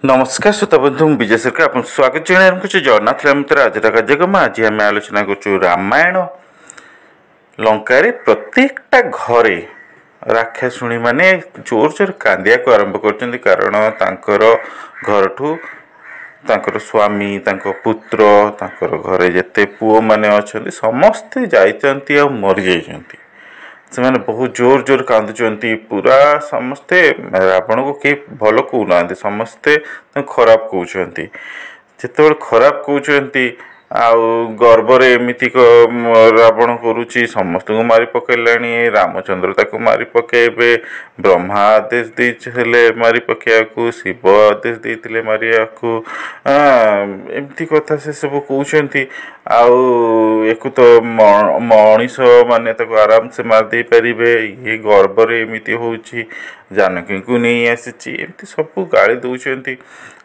ନମସ୍କାର ଶ୍ରୋତା ବନ୍ଧୁ, ମୁଁ ବିଜୟ ସରକାର ଆପଣଙ୍କୁ ସ୍ୱାଗତ ଜଣାଇ ଆରମ୍ଭ କରୁଛି ଜଗନ୍ନାଥ ରାମତର ଆଜିର କାର୍ଯ୍ୟକ୍ରମ। ଆଜି ଆମେ ଆଲୋଚନା କରୁଛୁ ରାମାୟଣ। ଲଙ୍କାରେ ପ୍ରତ୍ୟେକଟା ଘରେ ରାକ୍ଷାଶୁଣୀମାନେ ଜୋର ଜୋର କାନ୍ଦିବାକୁ ଆରମ୍ଭ କରୁଛନ୍ତି, କାରଣ ତାଙ୍କର ଘରଠୁ ତାଙ୍କର ସ୍ୱାମୀ, ତାଙ୍କ ପୁତ୍ର, ତାଙ୍କର ଘରେ ଯେତେ ପୁଅମାନେ ଅଛନ୍ତି ସମସ୍ତେ ଯାଇଛନ୍ତି ଆଉ ମରିଯାଇଛନ୍ତି। ସେମାନେ ବହୁତ ଜୋର ଜୋର କାନ୍ଦୁଛନ୍ତି ପୁରା। ସମସ୍ତେ ରାବଣକୁ କେହି ଭଲ କହୁନାହାନ୍ତି, ସମସ୍ତେ ତାଙ୍କୁ ଖରାପ କହୁଛନ୍ତି। ଯେତେବେଳେ ଖରାପ କହୁଛନ୍ତି ଆଉ ଗର୍ବରେ ଏମିତି ରାବଣ କରୁଛି, ସମସ୍ତଙ୍କୁ ମାରି ପକାଇଲାଣି, ରାମଚନ୍ଦ୍ର ତାକୁ ମାରି ପକାଇବେ, ବ୍ରହ୍ମା ଆଦେଶ ଦେଇଥିଲେ ମାରି ପକାଇବାକୁ, ଶିବ ଆଦେଶ ଦେଇଥିଲେ ମାରିବାକୁ, ଏମିତି କଥା ସେ ସବୁ କହୁଛନ୍ତି। ଆଉ ୟାକୁ ତ ମଣିଷ ମାନେ ତାକୁ ଆରାମସେ ମାରି ଦେଇପାରିବେ, ଇଏ ଗର୍ବରେ ଏମିତି ହେଉଛି, ଜାନକୀଙ୍କୁ ନେଇ ଆସିଛି, ଏମିତି ସବୁ ଗାଳି ଦେଉଛନ୍ତି।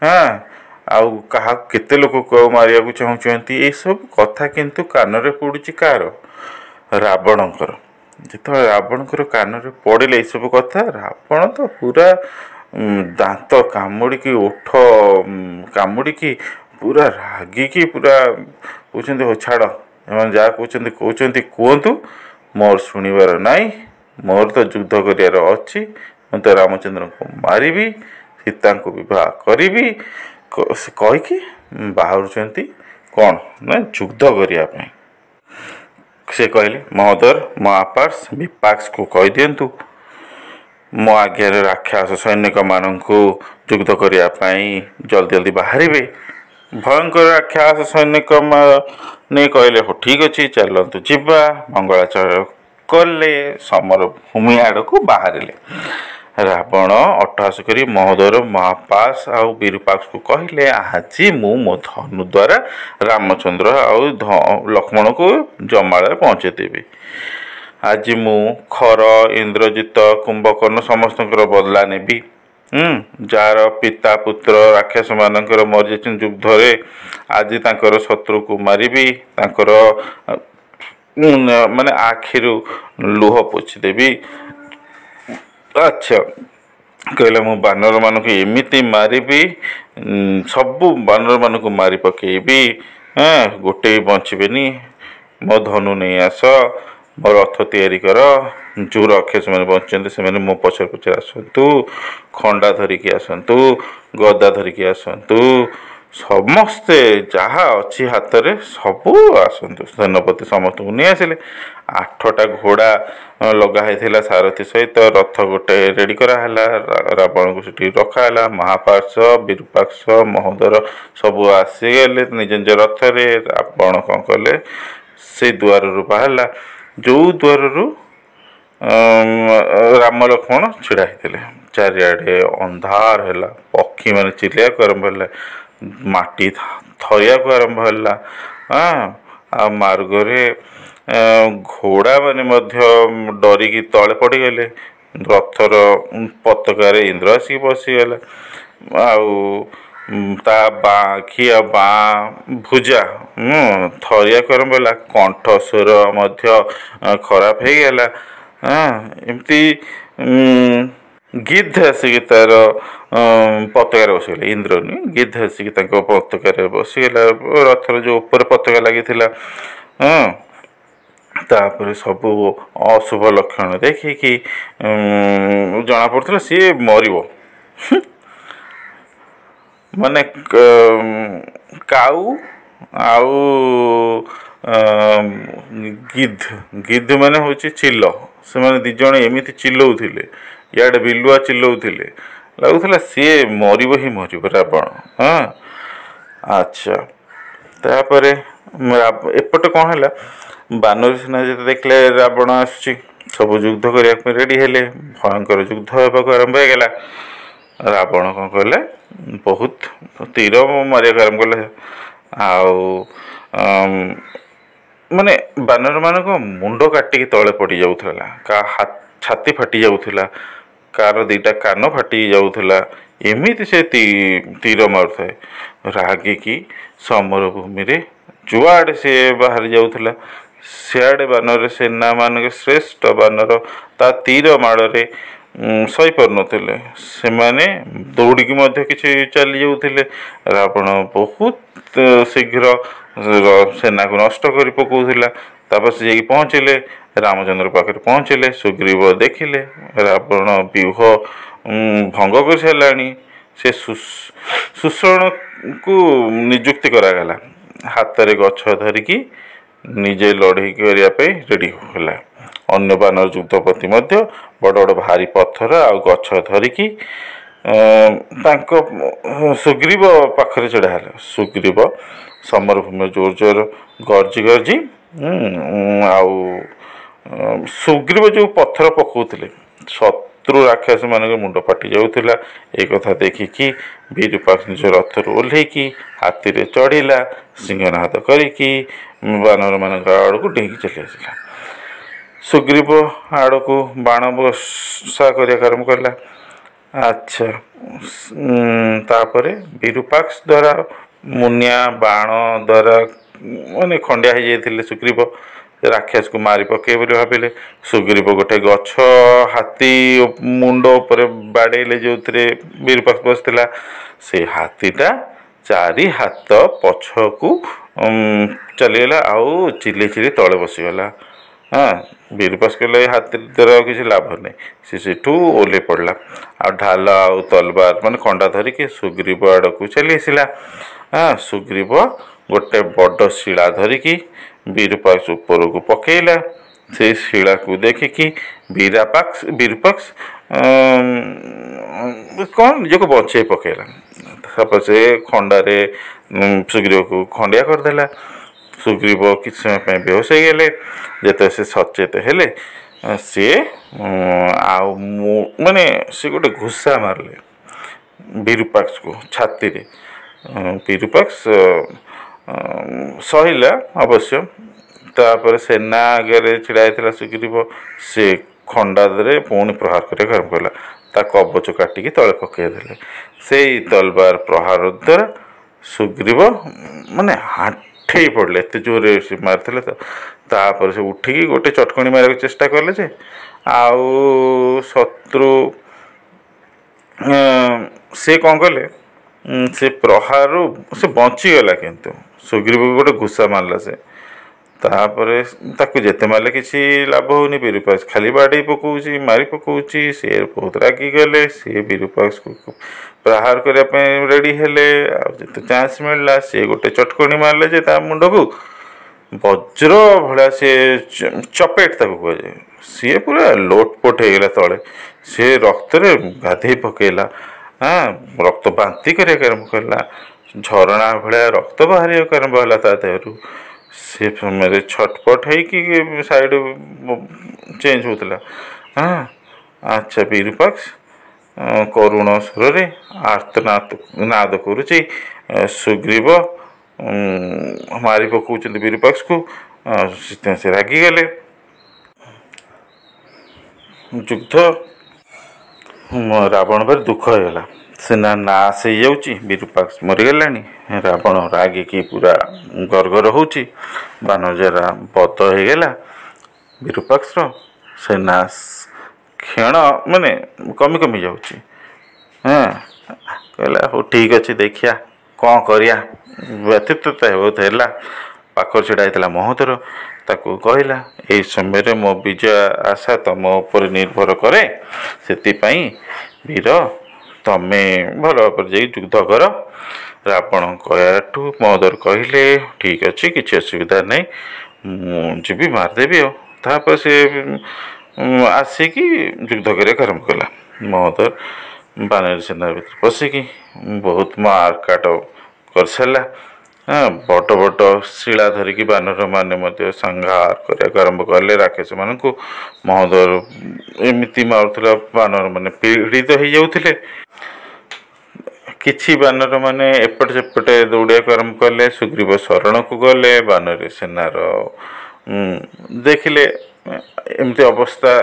ହଁ, ଆଉ କାହାକୁ କେତେ ଲୋକକୁ ଆଉ ମାରିବାକୁ ଚାହୁଁଛନ୍ତି, ଏସବୁ କଥା କିନ୍ତୁ କାନରେ ପଡ଼ୁଛି କାହାର? ରାବଣଙ୍କର। ଯେତେବେଳେ ରାବଣଙ୍କର କାନରେ ପଡ଼ିଲେ ଏସବୁ କଥା, ରାବଣ ତ ପୁରା ଦାନ୍ତ କାମୁଡ଼ିକି, ଓଠ କାମୁଡ଼ିକି ପୁରା ରାଗିକି ପୁରା କହୁଛନ୍ତି, ହଉ ଛାଡ଼, ଏମାନେ ଯାହା କହୁଛନ୍ତି କହୁଛନ୍ତି କୁହନ୍ତୁ, ମୋର ଶୁଣିବାର ନାହିଁ, ମୋର ତ ଯୁଦ୍ଧ କରିବାର ଅଛି, ମୁଁ ତ ରାମଚନ୍ଦ୍ରଙ୍କୁ ମାରିବି, ସୀତାଙ୍କୁ ବିବାହ କରିବି। ସେ କହିକି ବାହାରୁଛନ୍ତି କ'ଣ ନା ଯୁଦ୍ଧ କରିବା ପାଇଁ। ସେ କହିଲେ, ମହୋଦର, ମହାପାର୍ଶ, ବିପାକ୍ସକୁ କହିଦିଅନ୍ତୁ ମୋ ଆଜ୍ଞାରେ ରାକ୍ଷସ ସୈନିକମାନଙ୍କୁ ଯୁଦ୍ଧ କରିବା ପାଇଁ ଜଲ୍ଦି ଜଲ୍ଦି ବାହାରିବେ। ଭୟଙ୍କର ରାକ୍ଷସ ସୈନିକମାନେ କହିଲେ, ହଉ ଠିକ୍ ଅଛି, ଚାଲନ୍ତୁ ଯିବା। ମଙ୍ଗଳାଚରଣ କଲେ, ସମର ଭୂମି ଆଡ଼କୁ ବାହାରିଲେ। ରାବଣ ଅଟ୍ଟହାସ କରି ମହୋଦର, ମହାପାସ ଆଉ ବିରୁପାକ୍ଷକୁ କହିଲେ, ଆଜି ମୁଁ ମୋ ଧନୁ ଦ୍ୱାରା ରାମଚନ୍ଦ୍ର ଆଉ ଲକ୍ଷ୍ମଣକୁ ଜମାଳରେ ପହଞ୍ଚେଇଦେବି। ଆଜି ମୁଁ ଖର, ଇନ୍ଦ୍ରଜିତ, କୁମ୍ଭକର୍ଣ୍ଣ ସମସ୍ତଙ୍କର ବଦଲା ନେବି, ଯାହାର ପିତା ପୁତ୍ର ରାକ୍ଷସମାନଙ୍କର ମରିଯାଇଛନ୍ତି ଯୁଦ୍ଧରେ। ଆଜି ତାଙ୍କର ଶତ୍ରୁକୁ ମାରିବି, ତାଙ୍କର ମାନେ ଆଖିରୁ ଲୁହ ପୋଛିଦେବି। ଆଚ୍ଛା, କହିଲେ ମୁଁ ବାନରମାନଙ୍କୁ ଏମିତି ମାରିବି, ସବୁ ବାନରମାନଙ୍କୁ ମାରି ପକେଇବି, ହଁ, ଗୋଟେ ବି ବଞ୍ଚିବେନି। ମୋ ଧନୁ ନେଇ ଆସ, ମୋ ରଥ ତିଆରି କର, ଯେଉଁ ରାକ୍ଷସମାନେ ବଞ୍ଚିଛନ୍ତି ସେମାନେ ମୋ ପଛରେ ପଛରେ ଆସନ୍ତୁ, ଖଣ୍ଡା ଧରିକି ଆସନ୍ତୁ, ଗଦା ଧରିକି ଆସନ୍ତୁ, ସମସ୍ତେ ଯାହା ଅଛି ହାତରେ ସବୁ ଆସନ୍ତୁ। ସେନାପତି ସମସ୍ତଙ୍କୁ ନେଇ ଆସିଲେ। 8ଟା ଘୋଡ଼ା ଲଗା ହେଇଥିଲା ସାରଥି ସହିତ, ରଥ ଗୋଟେ ରେଡ଼ି କରାହେଲା, ରାବଣକୁ ସେଠି ରଖାହେଲା। ମହାପାର୍ଶ, ବିରୁପାକ୍ଷ, ମହୋଦର ସବୁ ଆସିଗଲେ ନିଜ ନିଜ ରଥରେ। ରାବଣ କ'ଣ କଲେ? ସେଇ ଦୁଆରରୁ ବାହାରିଲା ଯେଉଁ ଦ୍ୱାରରୁ ରାମ ଲକ୍ଷ୍ମଣ ଛିଡ଼ା ହେଇଥିଲେ। ଚାରିଆଡ଼େ ଅନ୍ଧାର ହେଲା, ପକ୍ଷୀମାନେ ଚିଲେଇବାକୁ ଆରମ୍ଭ ହେଲା, ମାଟି ଥରିବାକୁ ଆରମ୍ଭ ହେଲା, ଆଉ ମାର୍ଗରେ ଘୋଡ଼ାମାନେ ମଧ୍ୟ ଡରିକି ତଳେ ପଡ଼ିଗଲେ। ରଥର ପତାକାରେ ଇନ୍ଦ୍ର ଆସିକି ବସିଗଲା, ଆଉ ତା ବାଁ ଆଖି ଆଉ ବାଁ ଭୁଜା ଥରିବାକୁ ଆରମ୍ଭ ହେଲା, କଣ୍ଠ ସ୍ୱର ମଧ୍ୟ ଖରାପ ହେଇଗଲା। ଏମିତି ଗିଦ୍ଧ ଆସିକି ତାର ପତାକାରେ ବସିଗଲେ। ଇନ୍ଦ୍ର ନୁହେଁ, ଗିଦ୍ଧ ଆସିକି ତାଙ୍କ ପତାକାରେ ବସିଗଲା, ରଥର ଯେଉଁ ଉପରେ ପତାକା ଲାଗିଥିଲା। ହଁ, ତାପରେ ସବୁ ଅଶୁଭ ଲକ୍ଷଣ ଦେଖିକି ଜଣାପଡ଼ୁଥିଲା ସିଏ ମରିବ। ମାନେ କାଉ ଆଉ ଗିଦ୍ଧ, ଗିଦ୍ଧ ମାନେ ହେଉଛି ଚିଲ, ସେମାନେ ଦୁଇ ଜଣ ଏମିତି ଚିଲଉଥିଲେ, ଇଆଡ଼େ ବିଲୁଆ ଚିଲଉଥିଲେ, ଲାଗୁଥିଲା ସିଏ ମରିବ ହିଁ ମରିବ ରାବଣ। ହଁ, ଆଚ୍ଛା, ତାପରେ ଏପଟେ କ'ଣ ହେଲା? ବାନର ସେନା ଯେତେ ଦେଖିଲେ ରାବଣ ଆସୁଛି, ସବୁ ଯୁଦ୍ଧ କରିବା ପାଇଁ ରେଡ଼ି ହେଲେ। ଭୟଙ୍କର ଯୁଦ୍ଧ ହେବାକୁ ଆରମ୍ଭ ହେଇଗଲା। ରାବଣ କ'ଣ କଲେ? ବହୁତ ତୀର ମାରିବାକୁ ଆରମ୍ଭ କଲେ, ଆଉ ମାନେ ବାନରମାନଙ୍କ ମୁଣ୍ଡ କାଟିକି ତଳେ ପଡ଼ିଯାଉଥିଲା, କାହା ଛାତି ଫାଟି ଯାଉଥିଲା, କାହାର ଦୁଇଟା କାନ ଫାଟି ଯାଉଥିଲା, ଏମିତି ସେ ତୀର ମାରୁଥାଏ। ରାଗିକି ସମର ଭୂମିରେ ଯୁଆଡ଼େ ସିଏ ବାହାରି ଯାଉଥିଲା, ସିଆଡ଼େ ବାନର ସେନାମାନଙ୍କ ଶ୍ରେଷ୍ଠ ବାନର ତା ତୀର ମାଡ଼ରେ ସହିପାରୁନଥିଲେ। ସେମାନେ ଦୌଡ଼ିକି ମଧ୍ୟ କିଛି ଚାଲି ଯାଉଥିଲେ। ରାବଣ ବହୁତ ଶୀଘ୍ର ସେନାକୁ ନଷ୍ଟ କରି ପକାଉଥିଲା। ତାପରେ ସେ ଯାଇକି ପହଞ୍ଚିଲେ, ରାମଚନ୍ଦ୍ର ପାଖରେ ପହଞ୍ଚିଲେ। ସୁଗ୍ରୀବ ଦେଖିଲେ ରାବଣ ବ୍ୟୁହ ଭଙ୍ଗ କରିସାରିଲାଣି। ସେ ସୁଷେଣକୁ ନିଯୁକ୍ତି କରାଗଲା, ହାତରେ ଗଛ ଧରିକି ନିଜେ ଲଢ଼େଇ କରିବା ପାଇଁ ରେଡ଼ି ହେଲା। ଅନ୍ୟ ବାନର ଯୁଦ୍ଧପତି ମଧ୍ୟ ବଡ଼ ବଡ଼ ଭାରି ପଥର ଆଉ ଗଛ ଧରିକି ତାଙ୍କ ସୁଗ୍ରୀବ ପାଖରେ ଛିଡ଼ା ହେଲା। ସୁଗ୍ରୀବ ସମରଭୂମି ଜୋର ଜୋର ଗର୍ଜି ଗର୍ଜି, ଆଉ ସୁଗ୍ରୀବ ଯେଉଁ ପଥର ପକାଉଥିଲେ ଶତ୍ରୁ ରାକ୍ଷସ ମାନଙ୍କ ମୁଣ୍ଡ ଫାଟି ଯାଉଥିଲା। ଏ କଥା ଦେଖିକି ବିରୂପାକ୍ଷ ନିଜ ରଥରୁ ଓହ୍ଲେଇକି ହାତୀରେ ଚଢ଼ିଲା, ସିଂହନାଦ କରିକି ବାନରମାନଙ୍କ ଆଡ଼କୁ ଡେଇଁକି ଚାଲି ଆସିଲା। ସୁଗ୍ରୀବ ଆଡ଼କୁ ବାଣ ବର୍ଷା କରିବାକୁ ଆରମ୍ଭ କଲା। ଆଚ୍ଛା, ତାପରେ ବିରୂପାକ୍ଷ ଦ୍ୱାରା ମୁନିଆ ବାଣ ଦ୍ୱାରା ମାନେ ଖଣ୍ଡିଆ ହେଇଯାଇଥିଲେ ସୁଗ୍ରୀବ। ରାକ୍ଷସକୁ ମାରି ପକେଇବେ ବୋଲି ଭାବିଲେ। ସୁଗ୍ରୀବ ଗୋଟେ ଗଛ ହାତୀ ମୁଣ୍ଡ ଉପରେ ବାଡ଼େଇଲେ, ଯେଉଁଥିରେ ବିରୂପାକ୍ଷ ବସିଥିଲା। ସେ ହାତୀଟା 4 ହାତ ପଛକୁ ଚାଲିଗଲା ଆଉ ଚିଲେଇ ଚିଲେଇ ତଳେ ବସିଗଲା। ହଁ, ବିରୂପାକ୍ଷ କହିଲେ ଏ ହାତୀ ଦ୍ୱାରା ଆଉ କିଛି ଲାଭ ନାହିଁ। ସେ ସେଠୁ ଓହ୍ଲେଇ ପଡ଼ିଲା ଆଉ ଢାଲ ଆଉ ତଲବାର ମାନେ ଖଣ୍ଡା ଧରିକି ସୁଗ୍ରୀବ ଆଡ଼କୁ ଚାଲି ଆସିଲା। ହଁ, ସୁଗ୍ରୀବ ଗୋଟେ ବଡ଼ ଶିଳା ଧରିକି ବିରୂପାକ୍ଷ ଉପରକୁ ପକେଇଲା। ସେଇ ଶିଳାକୁ ଦେଖିକି ବିରୂପାକ୍ଷ କ'ଣ ନିଜକୁ ବଞ୍ଚେଇ ପକେଇଲା। ତାପରେ ସେ ଖଣ୍ଡାରେ ସୁଗ୍ରୀବକୁ ଖଣ୍ଡିଆ କରିଦେଲା। ସୁଗ୍ରୀବ କିଛି ସମୟ ପାଇଁ ବେହୋସ ହେଇଗଲେ। ଯେତେବେଳେ ସେ ସଚେତ ହେଲେ, ସିଏ ଆଉ ମୁଁ ମାନେ ସେ ଗୋଟେ ଘୁଷା ମାରିଲେ ବିରୂପାକ୍ଷକୁ ଛାତିରେ। ବିରୂପାକ୍ଷ ସହିଲା ଅବଶ୍ୟ। ତାପରେ ସେନା ଆଗରେ ଛିଡ଼ା ହେଇଥିଲା ସୁଗ୍ରୀବ, ସେ ଖଣ୍ଡାରେ ପୁଣି ପ୍ରହାର କରିବାକୁ ଆରମ୍ଭ କଲା। ତା କବଚ କାଟିକି ତଳେ ପକାଇଦେଲେ। ସେଇ ତଲବାର ପ୍ରହାର ଦ୍ୱାରା ସୁଗ୍ରୀବ ମାନେ ଆଣ୍ଠେଇ ପଡ଼ିଲେ, ଏତେ ଜୋରରେ ସେ ମାରିଥିଲେ ତ। ତାପରେ ସେ ଉଠିକି ଗୋଟେ ଚଟକଣି ମାରିବାକୁ ଚେଷ୍ଟା କଲେ ଯେ ଆଉ ଶତ୍ରୁ ସେ କ'ଣ କଲେ, ସେ ପ୍ରହାରରୁ ସେ ବଞ୍ଚିଗଲା, କିନ୍ତୁ ସୁଗ୍ରୀବକୁ ଗୋଟେ ଘୁଷା ମାରିଲା ସେ। ତାପରେ ତାକୁ ଯେତେ ମାରିଲେ କିଛି ଲାଭ ହେଉନି, ବିରୂପାକ୍ଷ ଖାଲି ବାଡ଼େଇ ପକାଉଛି, ମାରି ପକାଉଛି। ସିଏ ବହୁତ ରାଗିଗଲେ। ସିଏ ବିରୂପାକ୍ଷକୁ ପ୍ରହାର କରିବା ପାଇଁ ରେଡ଼ି ହେଲେ। ଆଉ ଯେତେ ଚାନ୍ସ ମିଳିଲା ସିଏ ଗୋଟେ ଚଟକଣି ମାରିଲେ ଯେ ତା ମୁଣ୍ଡକୁ ବଜ୍ର ଭଳିଆ ସିଏ ଚପେଟ ତାକୁ କୁହାଯାଏ। ସିଏ ପୁରା ଲୋଟପୋଟ ହେଇଗଲା ତଳେ। ସିଏ ରକ୍ତରେ ଗାଧେଇ ପକେଇଲା। ହଁ, ରକ୍ତ ବାନ୍ତି କରିବାକୁ ଆରମ୍ଭ କଲା, ଝରଣା ଭଳିଆ ରକ୍ତ ବାହାରିବାକୁ ଆରମ୍ଭ ହେଲା ତା ଦେହରୁ। ସେ ସମୟରେ ଛଟପଟ ହେଇକି ସାଇଡ଼ ଚେଞ୍ଜ ହେଉଥିଲା। ହଁ, ଆଚ୍ଛା, ବିରୂପାକ୍ଷ କରୁଣ ସ୍ୱରରେ ଆର୍ତ୍ତନାଦ ନାଦ କରୁଛି। ସୁଗ୍ରୀବ ମାରି ପକାଉଛନ୍ତି ବିରୂପାକ୍ଷକୁ, ସେଥିପାଇଁ ସେ ରାଗିଗଲେ। ଯୁଦ୍ଧ ରାବଣ ଭାରି ଦୁଃଖ ହେଇଗଲା। ସେନା ନାଶ ହେଇଯାଉଛି, ବିରୂପାକ୍ଷ ମରିଗଲାଣି। ରାବଣ ରାଗିକି ପୁରା ଗରଗର ହେଉଛି। ବାନର ବଧ ହେଇଗଲା ବିରୂପାକ୍ଷର, ସେନା କ୍ଷଣ ମାନେ କମି କମି ଯାଉଛି। ହଁ, କହିଲା ହଉ ଠିକ୍ ଅଛି, ଦେଖିବା କ'ଣ କରିବା। ବ୍ୟଥିତ ତ ବହୁତ ହେଲା। ପାଖରେ ଛିଡ଼ା ହେଇଥିଲା ମହୋଦର, ତାକୁ କହିଲା, ଏଇ ସମୟରେ ମୋ ବିଜୟ ଆଶା ତମ ଉପରେ ନିର୍ଭର କରେ, ସେଥିପାଇଁ ବୀର ତମେ ଭଲ ଭାବରେ ଯାଇ ଯୁଦ୍ଧ କର। ରାବଣ କହିବାଠୁ ମହୋଦର କହିଲେ, ଠିକ୍ ଅଛି, କିଛି ଅସୁବିଧା ନାହିଁ, ମୁଁ ଯିବି ମାରିଦେବି। ଆଉ ତାପରେ ସେ ଆସିକି ଯୁଦ୍ଧ କରିବାକୁ ଆରମ୍ଭ କଲା। ମହୋଦର ବାନର ସେନା ଭିତରେ ପଶିକି ବହୁତ ମାରକାଟ କରିସାରିଲା। ହଁ, ବଡ଼ ବଡ଼ ଶିଳା ଧରିକି ବାନରମାନେ ମଧ୍ୟ ସଂହାର କରିବାକୁ ଆରମ୍ଭ କଲେ ରାକ୍ଷସମାନଙ୍କୁ। ମହୋଦର ଏମିତି ମାରୁଥିଲା, ବାନରମାନେ ପୀଡ଼ିତ ହେଇଯାଉଥିଲେ। କିଛି ବାନରମାନେ ଏପଟେ ସେପଟେ ଦୌଡ଼ିବାକୁ ଆରମ୍ଭ କଲେ। ସୁଗ୍ରୀବ ଶରଣକୁ ଗଲେ। ବାନର ସେନାର ଦେଖିଲେ ଏମିତି ଅବସ୍ଥା।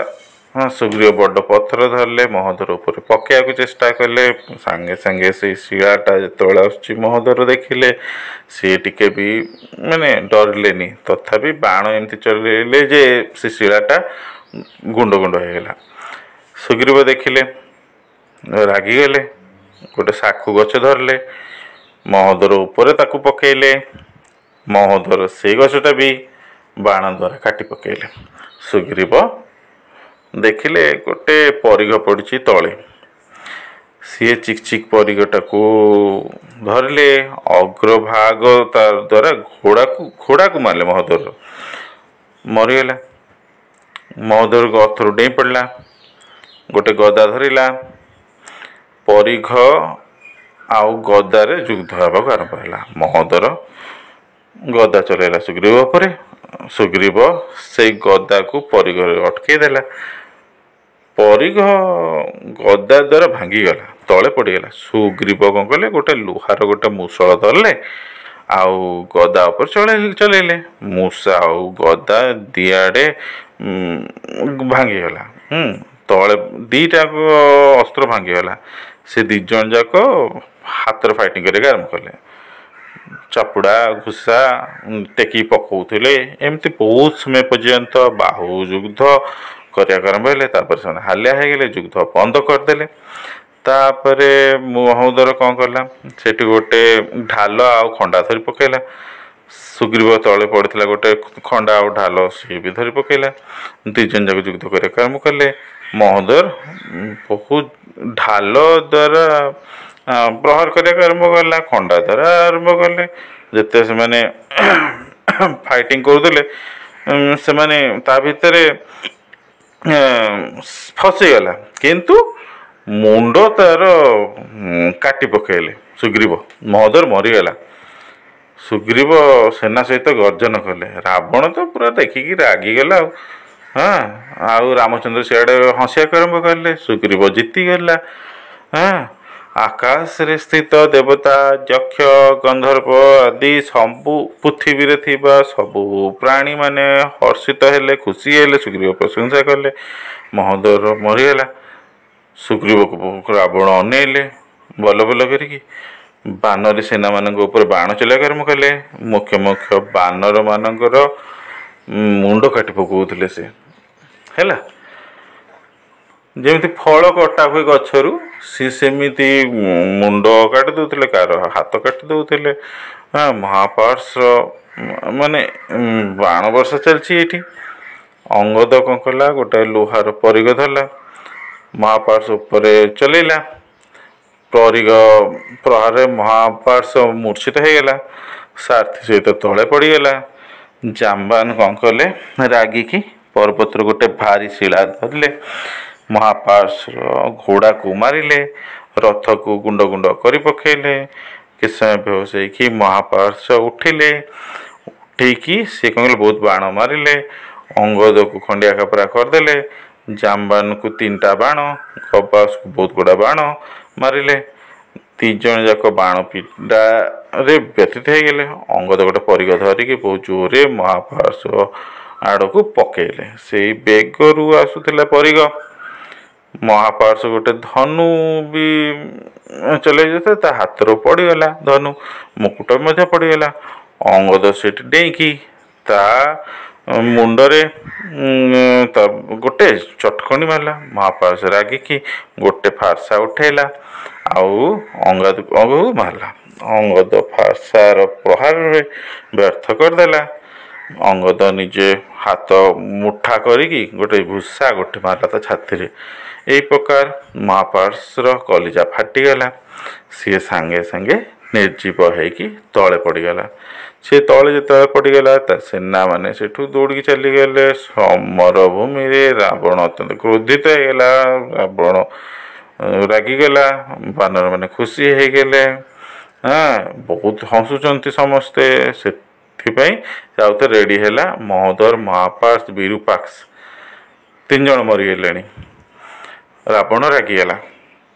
ହଁ, ସୁଗ୍ରୀବ ବଡ଼ ପଥର ଧରିଲେ, ମହୋଦର ଉପରେ ପକାଇବାକୁ ଚେଷ୍ଟା କଲେ। ସାଙ୍ଗେ ସାଙ୍ଗେ ସେଇ ଶିଳାଟା ଯେତେବେଳେ ଆସୁଛି ମହୋଦର ଦେଖିଲେ, ସିଏ ଟିକେ ବି ମାନେ ଡରିଲେନି। ତଥାପି ବାଣ ଏମିତି ଚଲେଇଲେ ଯେ ସେ ଶିଳାଟା ଗୁଣ୍ଡ ଗୁଣ୍ଡ ହେଇଗଲା। ସୁଗ୍ରୀବ ଦେଖିଲେ, ରାଗିଗଲେ, ଗୋଟେ ସାଖୁ ଗଛ ଧରିଲେ, ମହୋଦର ଉପରେ ତାକୁ ପକେଇଲେ। ମହୋଦର ସେଇ ଗଛଟା ବି ବାଣ ଦ୍ୱାରା କାଟି ପକେଇଲେ। ସୁଗ୍ରୀବ ଦେଖିଲେ ଗୋଟେ ପରିଘ ପଡ଼ିଛି ତଳେ, ସିଏ ଚିକ୍ ଚିକ୍ ପରିଘଟାକୁ ଧରିଲେ, ଅଗ୍ରଭାଗ ତା ଦ୍ୱାରା ଘୋଡ଼ାକୁ ମାରିଲେ, ମହୋଦର ମରିଗଲା। ମହୋଦର ଗଥରୁ ଡେଇଁ ପଡ଼ିଲା, ଗୋଟେ ଗଦା ଧରିଲା, ପରିଘ ଆଉ ଗଦାରେ ଯୁଦ୍ଧ ହେବାକୁ ଆରମ୍ଭ ହେଲା। ମହୋଦର ଗଦା ଚଲେଇଲା ସୁଗ୍ରୀବ ଉପରେ, ସୁଗ୍ରୀବ ସେଇ ଗଦାକୁ ପରିଘରେ ଅଟକେଇ ଦେଲା। ପରିଘ ଗଦା ଦ୍ୱାରା ଭାଙ୍ଗିଗଲା, ତଳେ ପଡ଼ିଗଲା। ସୁଗ୍ରୀବ କ'ଣ କଲେ, ଗୋଟେ ଲୁହାର ଗୋଟେ ମୁସଳ ଧରିଲେ ଆଉ ଗଦା ଉପରେ ଚଲେଇଲେ। ମୂଷା ଆଉ ଗଦା ଦିଆଡ଼େ ଭାଙ୍ଗିଗଲା, ତଳେ ଦୁଇଟାକ ଅସ୍ତ୍ର ଭାଙ୍ଗିଗଲା। ସେ ଦୁଇ ଜଣ ଯାକ ହାତରେ ଫାଇଟିଂ କରିବାକୁ ଆରମ୍ଭ କଲେ, ଚାପୁଡ଼ା ଘୁଷା ଟେକି ପକାଉଥିଲେ। ଏମିତି ବହୁତ ସମୟ ପର୍ଯ୍ୟନ୍ତ ବାହୁ ଯୁଦ୍ଧ କରିବାକୁ ଆରମ୍ଭ ହେଲେ। ତାପରେ ସେମାନେ ହାଲିଆ ହେଇଗଲେ, ଯୁଦ୍ଧ ବନ୍ଦ କରିଦେଲେ। ତାପରେ ମହୋଦର କ'ଣ କଲା, ସେଠି ଗୋଟେ ଢାଲ ଆଉ ଖଣ୍ଡା ଧରି ପକାଇଲା। ସୁଗ୍ରୀବ ତଳେ ପଡ଼ିଥିଲା ଗୋଟେ ଖଣ୍ଡା ଆଉ ଢାଲ, ସିଏ ବି ଧରି ପକାଇଲା। ଦୁଇ ଜଣ ଯାକ ଯୁଦ୍ଧ କରିବାକୁ ଆରମ୍ଭ କଲେ। ମହୋଦର ବହୁତ ଢାଲ ଦ୍ୱାରା ପ୍ରହାର କରିବାକୁ ଆରମ୍ଭ କଲା, ଖଣ୍ଡା ଦ୍ୱାରା ଆରମ୍ଭ କଲେ। ଯେତେ ସେମାନେ ଫାଇଟିଂ କରୁଥିଲେ, ସେମାନେ ତା ଭିତରେ ଫସିଗଲା, କିନ୍ତୁ ମୁଣ୍ଡ ତାର କାଟି ପକାଇଲେ ସୁଗ୍ରୀବ। ମହୋଦର ମରିଗଲା। ସୁଗ୍ରୀବ ସେନା ସହିତ ଗର୍ଜନ କଲେ। ରାବଣ ତ ପୁରା ଦେଖିକି ରାଗିଗଲା ଆଉ ହଁ, ଆଉ ରାମଚନ୍ଦ୍ର ସିଆଡ଼େ ହସିବାକୁ ଆରମ୍ଭ କଲେ। ସୁଗ୍ରୀବ ଜିତିଗଲା। ହଁ, ଆକାଶରେ ସ୍ଥିତ ଦେବତା, ଯକ୍ଷ, ଗନ୍ଧର୍ବ ଆଦି ସବୁ ପୃଥିବୀରେ ଥିବା ସବୁ ପ୍ରାଣୀମାନେ ହର୍ଷିତ ହେଲେ, ଖୁସି ହେଲେ, ସୁଗ୍ରୀବ ପ୍ରଶଂସା କଲେ। ମହୋଦର ମରିଗଲା। ସୁଗ୍ରୀବକୁ ରାବଣ ଅନେଇଲେ ବଲ ବଲ କରିକି। ବାନରୀ ସେନାମାନଙ୍କ ଉପରେ ବାଣ ଚଲେଇବାକୁ ଆରମ୍ଭ କଲେ। ମୁଖ୍ୟ ମୁଖ୍ୟ ବାନରମାନଙ୍କର ମୁଣ୍ଡ କାଟି ପକାଉଥିଲେ ସେ। ହେଲା ଯେମିତି ଫଳ କଟା ହୁଏ ଗଛରୁ, ସିଏ ସେମିତି ମୁଣ୍ଡ କାଟି ଦେଉଥିଲେ, କାହାର ହାତ କାଟି ଦେଉଥିଲେ। ହଁ, ମହାପାର୍ଶ୍ୱ ମାନେ ବାଣ ବର୍ଷା ଚାଲିଛି ଏଇଠି। ଅଙ୍ଗଦ କ'ଣ କଲା, ଗୋଟେ ଲୁହାର ପରିଘ ଧରିଲା, ମହାପାର୍ଶ୍ୱ ଉପରେ ଚଲେଇଲା। ପରିଘ ପ୍ରହାରରେ ମହାପାର୍ଶ୍ୱ ମୂର୍ଚ୍ଛିତ ହେଇଗଲା, ସାରଥି ସହିତ ତଳେ ପଡ଼ିଗଲା। ଜାମ୍ବାନ କ'ଣ କଲେ, ରାଗିକି ପର୍ବତରୁ ଗୋଟେ ଭାରି ଶିଳା ଧରିଲେ, ମହାପାର୍ଶ୍ୱ ଘୋଡ଼ାକୁ ମାରିଲେ, ରଥକୁ ଗୁଣ୍ଡ ଗୁଣ୍ଡ କରି ପକାଇଲେ। କିଛି ସମୟ ବେହୋସ ହେଇକି ମହାପାର୍ଶ୍ୱ ଉଠିଲେ। ଉଠେଇକି ସେ କ'ଣ କଲେ, ବହୁତ ବାଣ ମାରିଲେ, ଅଙ୍ଗଦକୁ ଖଣ୍ଡିଆ ଖାପରା କରିଦେଲେ, ଜାମ୍ବାନକୁ 3ଟା ବାଣ, ଗବାସକୁ ବହୁତ ଗୁଡ଼ା ବାଣ ମାରିଲେ। ଦୁଇ ଜଣ ଯାକ ବାଣ ପିଣ୍ଡାରେ ବ୍ୟତୀତ ହେଇଗଲେ। ଅଙ୍ଗଦ ଗୋଟେ ପରିଘ ଧରିକି ବହୁତ ଜୋରରେ ମହାପାର୍ଶ୍ୱ ଆଡ଼କୁ ପକେଇଲେ। ସେଇ ବେଗରୁ ଆସୁଥିଲା ପରିଘ। ମହାପାର୍ଶ୍ୱ ଗୋଟେ ଧନୁ ବି ଚଲେଇ ଯାଉଥିଲା, ତା ହାତରୁ ପଡ଼ିଗଲା ଧନୁ, ମୁକୁଟ ମଧ୍ୟ ପଡ଼ିଗଲା। ଅଙ୍ଗଦ ସେଠି ଡେଇଁକି ତା ମୁଣ୍ଡରେ ତା ଗୋଟେ ଚଟକଣି ମାରିଲା। ମହାପାର୍ଶ୍ୱ ରାଗିକି ଗୋଟେ ଫାର୍ସା ଉଠେଇଲା ଆଉ ଅଙ୍ଗଦକୁ ମାରିଲା। ଅଙ୍ଗଦ ଫାର୍ସାର ପ୍ରହାରରେ ବ୍ୟର୍ଥ କରିଦେଲା। ଅଙ୍ଗଦ ନିଜେ ହାତ ମୁଠା କରିକି ଗୋଟେ ଭୁଷା ଗୋଟେ ମାରିଲା ତା ଛାତିରେ। ଏଇ ପ୍ରକାର ମହାପାର୍ଶ୍ୱର କଲିଜା ଫାଟିଗଲା। ସିଏ ସାଙ୍ଗେ ସାଙ୍ଗେ ନିର୍ଜୀବ ହେଇକି ତଳେ ପଡ଼ିଗଲା। ସେ ତଳେ ଯେତେବେଳେ ପଡ଼ିଗଲା, ତା ସେନାମାନେ ସେଠୁ ଦୌଡ଼ିକି ଚାଲିଗଲେ। ସମର ଭୂମିରେ ରାବଣ ଅତ୍ୟନ୍ତ କ୍ରୋଧିତ ହେଇଗଲା। ରାବଣ ରାଗିଗଲା, ବାନରମାନେ ଖୁସି ହେଇଗଲେ। ହଁ, ବହୁତ ହସୁଛନ୍ତି ସମସ୍ତେ। ସେଥିପାଇଁ ସେ ଆଉ ଥରେ ରେଡ଼ି ହେଲା। ମହୋଦର, ମହାପାର୍ଶ୍ୱ, ବିରୂପାକ୍ଷ 3 ଜଣ ମରିଗଲେଣି। ରାବଣ ରାଗିଗଲା,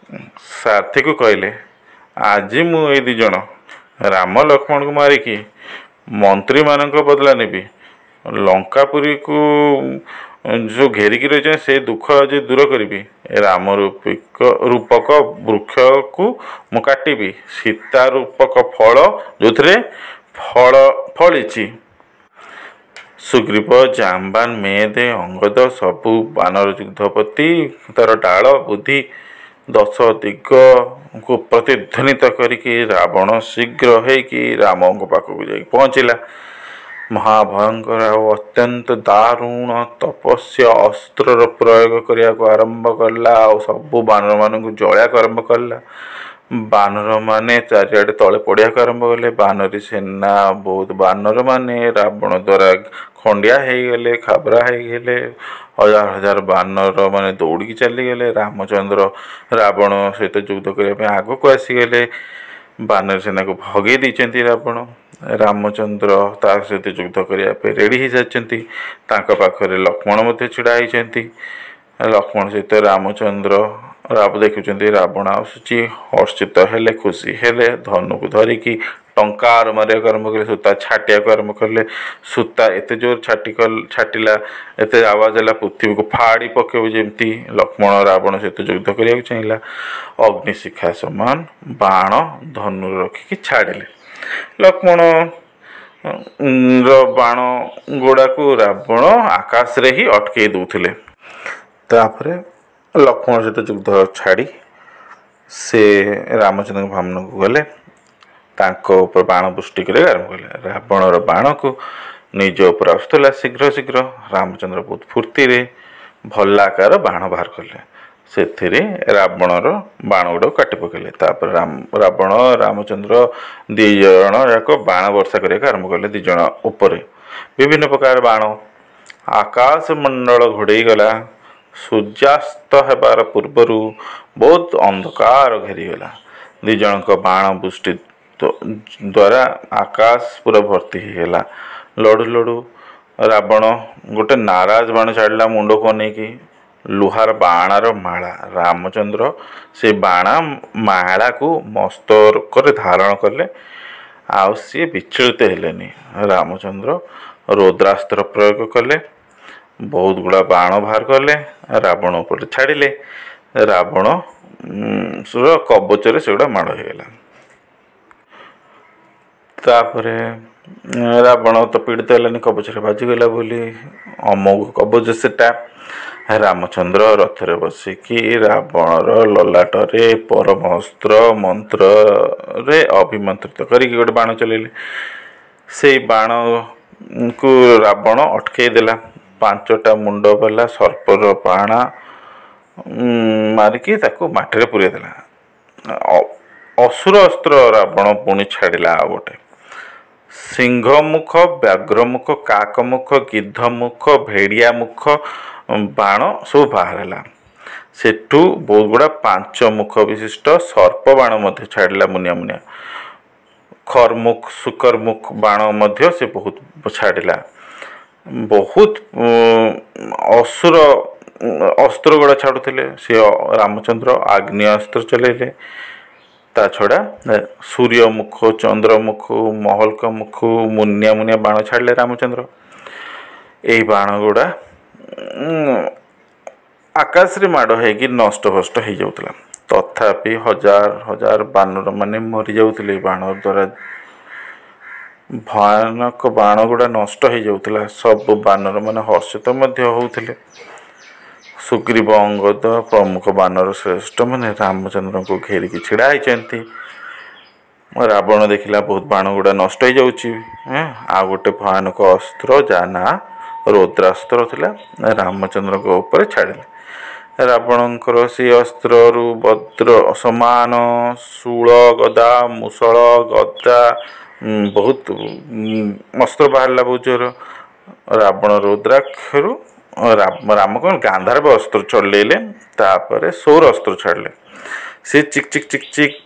ସାରଥିକୁ କହିଲେ, ଆଜି ମୁଁ ଏଇ 2 ଜଣ ରାମ ଲକ୍ଷ୍ମଣକୁ ମାରିକି ମନ୍ତ୍ରୀମାନଙ୍କ ବଦଲା ନେବି। ଲଙ୍କାପୁରୀକୁ ଯେଉଁ ଘେରିକି ରହିଛନ୍ତି ସେ ଦୁଃଖ ଆଜି ଦୂର କରିବି। ରାମ ରୂପକ ବୃକ୍ଷକୁ ମୁଁ କାଟିବି, ସୀତା ରୂପକ ଫଳ ଯେଉଁଥିରେ ଫଳ ଫଳିଛି ସୁଗ୍ରୀବ, ଜାମ୍ବାନ, ମେଦେ, ଅଙ୍ଗଦ ସବୁ ବାନର ଯୁଦ୍ଧପତି ତାର ଡାଳ ବୁଦ୍ଧି ଦଶ ଦିଗକୁ ପ୍ରତିଧ୍ୱନିତ କରିକି ରାବଣ ଶୀଘ୍ର ହେଇକି ରାମଙ୍କ ପାଖକୁ ଯାଇକି ପହଞ୍ଚିଲା। ମହାଭୟଙ୍କର ଆଉ ଅତ୍ୟନ୍ତ ଦାରୁଣ ତପସ୍ୟା ଅସ୍ତ୍ରର ପ୍ରୟୋଗ କରିବାକୁ ଆରମ୍ଭ କଲା, ଆଉ ସବୁ ବାନରମାନଙ୍କୁ ଜଳେଇବାକୁ ଆରମ୍ଭ କଲା। ବାନରମାନେ ଚାରିଆଡ଼େ ତଳେ ପଡ଼ିବାକୁ ଆରମ୍ଭ କଲେ। ବାନରୀ ସେନା, ବହୁତ ବାନରମାନେ ରାବଣ ଦ୍ୱାରା ଖଣ୍ଡିଆ ହେଇଗଲେ, ଖାବରା ହେଇଗଲେ। ହଜାର ହଜାର ବାନର ମାନେ ଦୌଡ଼ିକି ଚାଲିଗଲେ। ରାମଚନ୍ଦ୍ର ରାବଣ ସହିତ ଯୁଦ୍ଧ କରିବା ପାଇଁ ଆଗକୁ ଆସିଗଲେ। ବାନର ସେନାକୁ ଭଗେଇ ଦେଇଛନ୍ତି ରାବଣ। ରାମଚନ୍ଦ୍ର ତା ସହିତ ଯୁଦ୍ଧ କରିବା ପାଇଁ ରେଡ଼ି ହେଇସାରିଛନ୍ତି। ତାଙ୍କ ପାଖରେ ଲକ୍ଷ୍ମଣ ମଧ୍ୟ ଛିଡ଼ା ହେଇଛନ୍ତି। ଲକ୍ଷ୍ମଣ ସହିତ ରାମଚନ୍ଦ୍ର ଦେଖୁଛନ୍ତି ରାବଣ ଆସୁଛି, ହର୍ଷିତ ହେଲେ, ଖୁସି ହେଲେ। ଧନୁକୁ ଧରିକି ଟଙ୍କାର ମାରିବାକୁ ଆରମ୍ଭ କଲେ, ସୂତା ଛାଟିବାକୁ ଆରମ୍ଭ କଲେ। ସୂତା ଏତେ ଜୋର ଛାଟିଲା, ଏତେ ଆୱାଜ ହେଲା, ପୃଥିବୀକୁ ଫାଡ଼ି ପକେଇବ ଯେମିତି। ଲକ୍ଷ୍ମଣ ରାବଣ ସହିତ ଯୁଦ୍ଧ କରିବାକୁ ଚାହିଁଲା। ଅଗ୍ନିଶିଖା ସମାନ ବାଣ ଧନୁରେ ରଖିକି ଛାଡ଼ିଲେ। ଲକ୍ଷ୍ମଣ ର ବାଣ ଗୁଡ଼ାକୁ ରାବଣ ଆକାଶରେ ହିଁ ଅଟକେଇ ଦେଉଥିଲେ। ତାପରେ ଲକ୍ଷ୍ମଣ ସହିତ ଯୁଦ୍ଧ ଛାଡ଼ି ସେ ରାମଚନ୍ଦ୍ରଙ୍କ ଭାମନକୁ ଗଲେ। ତାଙ୍କ ଉପରେ ବାଣ ବୃଷ୍ଟି କରିବାକୁ ଆରମ୍ଭ କଲେ। ରାବଣର ବାଣକୁ ନିଜ ଉପରେ ଆସୁଥିଲା ଶୀଘ୍ର ଶୀଘ୍ର। ରାମଚନ୍ଦ୍ର ବହୁତ ଫୁର୍ତ୍ତିରେ ଭଲ୍ଲାକାର ବାଣ ବାହାର କଲେ। ସେଥିରେ ରାବଣର ବାଣ ଗୁଡ଼ାକୁ କାଟି ପକାଇଲେ। ତାପରେ ରାବଣ ରାମଚନ୍ଦ୍ର ଦୁଇ ଜଣ ଯାକ ବାଣ ବର୍ଷା କରିବାକୁ ଆରମ୍ଭ କଲେ। ଦୁଇ ଜଣ ଉପରେ ବିଭିନ୍ନ ପ୍ରକାର ବାଣ, ଆକାଶ ମଣ୍ଡଳ ଘୋଡ଼େଇ ଗଲା। ସୂର୍ଯ୍ୟାସ୍ତ ହେବାର ପୂର୍ବରୁ ବହୁତ ଅନ୍ଧକାର ଘେରିଗଲା। ଦୁଇ ଜଣଙ୍କ ବାଣ ବୃଷ୍ଟି ଦ୍ୱାରା ଆକାଶ ପୁରା ଭର୍ତ୍ତି ହେଇଗଲା। ଲଢ଼ୁ ଲଢ଼ୁ ରାବଣ ଗୋଟେ ନାରାଜ ବାଣ ଛାଡ଼ିଲା ମୁଣ୍ଡକୁ ଅନେଇକି, ଲୁହାର ବାଣର ମାଳା। ରାମଚନ୍ଦ୍ର ସେ ବାଣ ମାଳାକୁ ମସ୍ତକରେ ଧାରଣ କଲେ, ଆଉ ସିଏ ବିଚଳିତ ହେଲେନି। ରାମଚନ୍ଦ୍ର ରୌଦ୍ରାସ୍ତ୍ର ପ୍ରୟୋଗ କଲେ, ବହୁତ ଗୁଡ଼ା ବାଣ ବାହାର କଲେ, ରାବଣ ଉପରେ ଛାଡ଼ିଲେ। ରାବଣ କବଚରେ ସେଗୁଡ଼ା ମାଡ଼ ହେଇଗଲା। ତାପରେ ରାବଣ ତ ପୀଡ଼ିତ ହେଲାନି, କବଚରେ ବାଜିଗଲା ବୋଲି, ଅମୋଘ କବଚ ସେଟା। ରାମଚନ୍ଦ୍ର ରଥରେ ବସିକି ରାବଣର ଲଲାଟରେ ପରମ ଅସ୍ତ୍ର ମନ୍ତ୍ରରେ ଅଭିମନ୍ତ୍ରିତ କରିକି ଗୋଟେ ବାଣ ଚଲେଇଲେ। ସେଇ ବାଣକୁ ରାବଣ ଅଟକେଇ ଦେଲା। 5ଟା ମୁଣ୍ଡ ବାଲା ସର୍ପର ବାଣ ମାରିକି ତାକୁ ମାଟିରେ ପୁରେଇ ଦେଲା। ଅସୁର ଅସ୍ତ୍ର ରାବଣ ପୁଣି ଛାଡ଼ିଲା ଆଉ ଗୋଟେ। ସିଂହମୁଖ, ବ୍ୟାଘ୍ରମୁଖ, କାକମୁଖ, ଗିଦ୍ଧମୁଖ, ଭେଡ଼ିଆ ମୁଖ ବାଣ ସବୁ ବାହାରିଲା। ସେଠୁ ବହୁତ ଗୁଡ଼ା 5 ମୁଖ ବିଶିଷ୍ଟ ସର୍ପ ବାଣ ମଧ୍ୟ ଛାଡ଼ିଲା ମୁନିଆ ମୁନିଆ। ଖରମୁଖ, ଶୁକରମୁଖ ବାଣ ମଧ୍ୟ ସେ ବହୁତ ଛାଡ଼ିଲା। ବହୁତ ଅସୁର ଅସ୍ତ୍ର ଗୁଡ଼ା ଛାଡ଼ୁଥିଲେ। ସେ ରାମଚନ୍ଦ୍ର ଆଗ୍ନେୟ ଅସ୍ତ୍ର ଚଲେଇଲେ। ତା ଛଡ଼ା ସୂର୍ଯ୍ୟମୁଖ, ଚନ୍ଦ୍ରମୁଖ, ମହଲକ ମୁଖ, ମୁନିଆ ମୁନିଆ ବାଣ ଛାଡ଼ିଲେ ରାମଚନ୍ଦ୍ର। ଏଇ ବାଣ ଗୁଡ଼ା ଆକାଶରେ ମାଡ଼ ହେଇକି ନଷ୍ଟ ଭଷ୍ଟ ହେଇଯାଉଥିଲା। ତଥାପି ହଜାର ହଜାର ବାନର ମାନେ ମରିଯାଉଥିଲେ ବାଣ ଦ୍ୱାରା। ଭୟାନକ ବାଣ ଗୁଡ଼ା ନଷ୍ଟ ହେଇଯାଉଥିଲା। ସବୁ ବାନର ମାନେ ହର୍ଷିତ ମଧ୍ୟ ହେଉଥିଲେ। ସୁଗ୍ରୀବ, ଅଙ୍ଗଦ ପ୍ରମୁଖ ବାନର ଶ୍ରେଷ୍ଠ ମାନେ ରାମଚନ୍ଦ୍ରଙ୍କୁ ଘେରିକି ଛିଡ଼ା ହେଇଛନ୍ତି। ରାବଣ ଦେଖିଲା ବହୁତ ବାଣ ଗୁଡ଼ା ନଷ୍ଟ ହେଇଯାଉଛି। ଆଉ ଗୋଟେ ଭୟାନକ ଅସ୍ତ୍ର ଯାହା ନାଁ ରୌଦ୍ରାସ୍ତ୍ର ଥିଲା, ରାମଚନ୍ଦ୍ରଙ୍କ ଉପରେ ଛାଡ଼ିଲେ। ରାବଣଙ୍କର ସେ ଅସ୍ତ୍ରରୁ ବଜ୍ର ସମାନ ଶୂଳ, ଗଦା, ମୁସଳ, ଗଦା, ବହୁତ ଅସ୍ତ୍ର ବାହାରିଲା ବହୁତ ଜୋର। ରାବଣ ରୁଦ୍ରାକ୍ଷରୁ ରାମ କ'ଣ ଗାନ୍ଧାର ଅସ୍ତ୍ର ଚଲେଇଲେ। ତାପରେ ସୌର ଅସ୍ତ୍ର ଛାଡ଼ିଲେ। ସେ ଚିକ୍ ଚିକ୍ ଚିକ୍ ଚିକ୍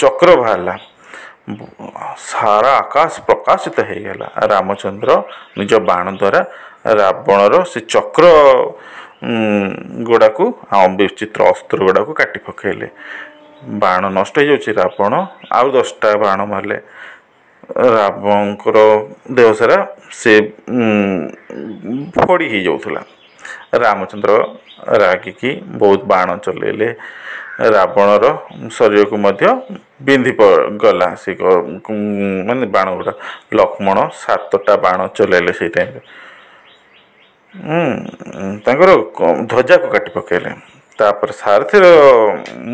ଚକ୍ର ବାହାରିଲା, ସାରା ଆକାଶ ପ୍ରକାଶିତ ହେଇଗଲା। ରାମଚନ୍ଦ୍ର ନିଜ ବାଣ ଦ୍ୱାରା ରାବଣର ସେ ଚକ୍ର ଗୁଡ଼ାକୁ ଆଉ ବିଚିତ୍ର ଅସ୍ତ୍ର ଗୁଡ଼ାକୁ କାଟି ପକାଇଲେ। ବାଣ ନଷ୍ଟ ହେଇଯାଉଛି। ରାବଣ ଆଉ 10ଟା ବାଣ ମାରିଲେ। ରାବଣଙ୍କର ଦେହ ସାରା ସେ ଫୋଡ଼ି ହେଇଯାଉଥିଲା। ରାମଚନ୍ଦ୍ର ରାଗିକି ବହୁତ ବାଣ ଚଲେଇଲେ। ରାବଣର ଶରୀରକୁ ମଧ୍ୟ ବିନ୍ଧି ଗଲା ସେ ମାନେ ବାଣ ଗୁଡ଼ା। ଲକ୍ଷ୍ମଣ 7ଟା ବାଣ ଚଲେଇଲେ ସେଇ ଟାଇମ୍ରେ। ତାଙ୍କର ଧ୍ୱଜାକୁ କାଟି ପକାଇଲେ। ତାପରେ ସାରଥିର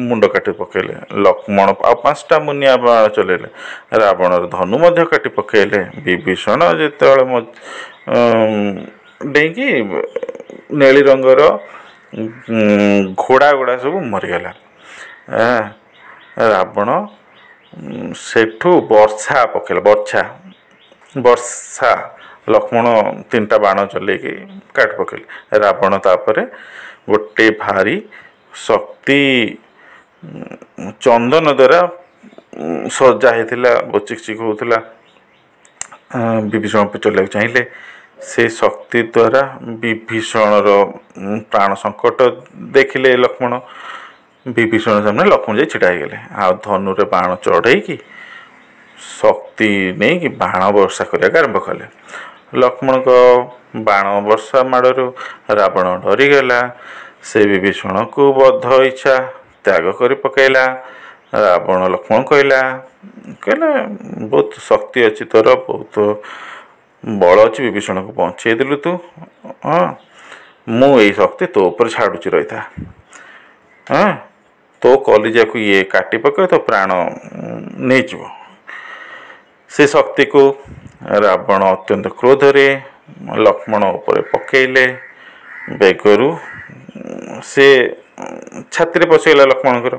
ମୁଣ୍ଡ କାଟି ପକାଇଲେ। ଲକ୍ଷ୍ମଣ ଆଉ 5ଟା ମୁନିଆ ବାଣ ଚଲେଇଲେ, ରାବଣର ଧନୁ ମଧ୍ୟ କାଟି ପକାଇଲେ। ବିଭୀଷଣ ଯେତେବେଳେ ଡେଇଁକି ନେଳି ରଙ୍ଗର ଘୋଡ଼ା ଗୁଡ଼ା ସବୁ ମରିଗଲା। ରାବଣ ସେଠୁ ବର୍ଷା ପକେଇଲା, ବର୍ଷା ବର୍ଷା। ଲକ୍ଷ୍ମଣ 3ଟା ବାଣ ଚଲେଇକି କାଟି ପକେଇଲେ। ରାବଣ ତାପରେ ଗୋଟେ ଭାରି ଶକ୍ତି ଚନ୍ଦନ ଦ୍ୱାରା ସଜା ହେଇଥିଲା, ଚିକ୍ ଚିକ୍ ହେଉଥିଲା, ବିଭୀଷଣ ଚଲେଇବାକୁ ଚାହିଁଲେ। ସେ ଶକ୍ତି ଦ୍ୱାରା ବିଭୀଷଣର ପ୍ରାଣ ସଙ୍କଟ ଦେଖିଲେ ଲକ୍ଷ୍ମଣ। ବିଭୀଷଣ ସାମ୍ନାରେ ଲକ୍ଷ୍ମଣ ଯାଇ ଛିଡ଼ା ହେଇଗଲେ, ଆଉ ଧନୁରେ ବାଣ ଚଢ଼େଇକି ଶକ୍ତି ନେଇକି ବାଣ ବର୍ଷା କରିବାକୁ ଆରମ୍ଭ କଲେ। ଲକ୍ଷ୍ମଣଙ୍କ ବାଣ ବର୍ଷା ମାଡ଼ରୁ ରାବଣ ଡରିଗଲା। ସେ ବିଭୀଷଣକୁ ବଦ୍ଧ ଇଚ୍ଛା ତ୍ୟାଗ କରି ପକାଇଲା। ରାବଣ ଲକ୍ଷ୍ମଣ କହିଲା, ବହୁତ ଶକ୍ତି ଅଛି ତୋର, ବହୁତ ବଳ ଅଛି, ବିଭୀଷଣକୁ ବଞ୍ଚେଇ ଦେଲୁ ତୁ। ହଁ, ମୁଁ ଏଇ ଶକ୍ତି ତୋ ଉପରେ ଛାଡ଼ୁଛି, ରହିଥା। ହଁ, ତୋ କଲିଜାକୁ ଇଏ କାଟି ପକାଇବ, ତୋ ପ୍ରାଣ ନେଇଯିବ। ସେ ଶକ୍ତିକୁ ରାବଣ ଅତ୍ୟନ୍ତ କ୍ରୋଧରେ ଲକ୍ଷ୍ମଣ ଉପରେ ପକେଇଲେ। ବେଗରୁ ସେ ଛାତିରେ ପଶିଗଲା ଲକ୍ଷ୍ମଣଙ୍କର।